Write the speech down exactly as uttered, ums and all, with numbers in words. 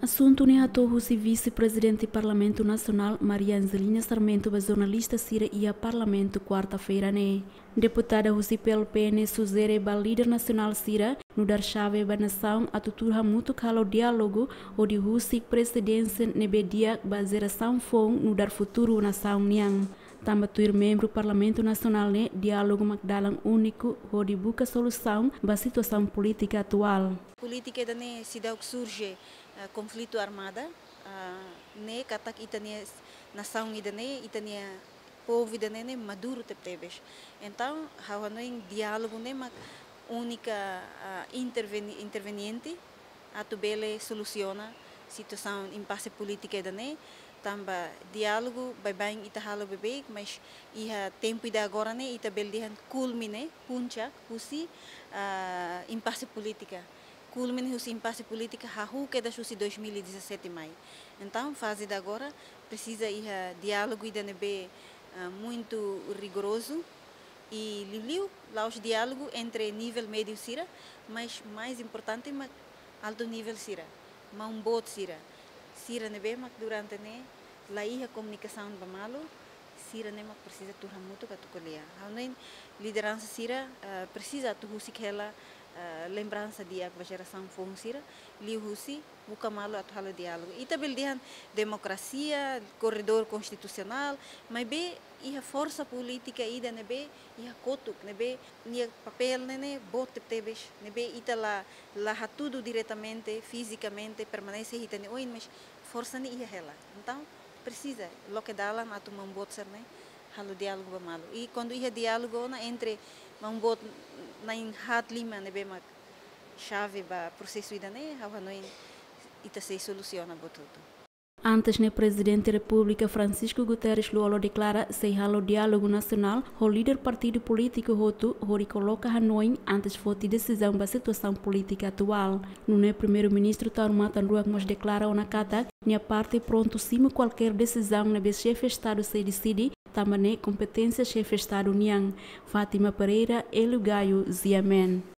Asuntu ne'e hato'o husi Vise-Prezidente Parlamentu Nasionál, Maria Angelina Sarmento, ba jornalista sira iha Parlamentu, kuarta-feira ne'e. Deputada husi P L P ne'e sujere ba líder nasionál sira nu'udar xave ba nasaun atu tuur hamutuk halo diálogu hodi husik presidénsia ne'ebé di'ak ba jerasaun foun nu'udar futuru nasaun nian. Tanba tuir membru Parlamentu Nasionál ne'e, diálogu mak dalan úniku hodi buka solusaun ba situasaun polítika atuál. Polítika ida-ne'e seidauk surje, eh, konflitu armada, ah, ne'e katak ita-nia nasaun ida-ne'e, ita-nia povu ida-ne'e ne'e maduru tebetebes. Entaun, ha'u hanoin diálogu ne'e mak únika, ah, interveni-, interveniente atu bele solusiona situasaun impase polítika ida-ne'e, tanba diálogu baibain ita halo beibeik, mas iha tempu ida agora ne'e ita bele dehan kulmine, puncak, husi, ah, impase polítika. Kulmine husi impase polítika hahú kedas husi dois mil e dezassete mai. Entaun, faze ida agora presiza iha diálogu ida ne'ebé, ah, muitu rigorozu i liuliu la'ós diálogu entre nivel médiu sira, mas mais importante mak altu nivel sira, maun boot sira. Sira ne'ebé mak durante ne'e la iha komunikasaun ba malu, sira ne'e mak presiza tuur hamutuk atu ko'alia. Ha'u hanoin lideransa sira, eh, presiza atu husik hela, eh, lembransa di'ak ba jerasaun foun sira, liuhusi buka malu atu halo diálogu. Ita bele dehan demokrasia, korredór konstitusionál, maibé iha forsa polítika ida ne'ebé iha kotuk, ne'ebé nia papél ne'e ne'e boot tebetebes, ne'ebé ita la, la hatudu diretamente, fizikamente, permanese iha ita-nia oin, mas forsa ne'e iha hela. Entaun, presiza loke dalan atu maun boot sira-ne'e halo diálogu ba malu. I kuandu iha diálogu ona entre maun boot na'in haat lima ne'ebé mak xave ba prosesu ida-ne'e, ha'u hanoin ita sei solusiona buat hotu. Antes ne'e, Prezidente Repúblika Francisco Guterres Lú-Olo deklara sei halo diálogu nasionál ho líder partidu polítiku hotu hodi koloka hanoin antes foti desizaun ba situasaun polítika atuál. Nune'e Primeiru-Ministru Taur Matan Ruak mós deklara ona katak nia parte prontu simu kualkér desizaun ne'ebé Xefe Estadu sei deside, tanba ne'e kompeténsia Xefe Estadu nian. Fátima Pereira, Hélio Gaio, G M N.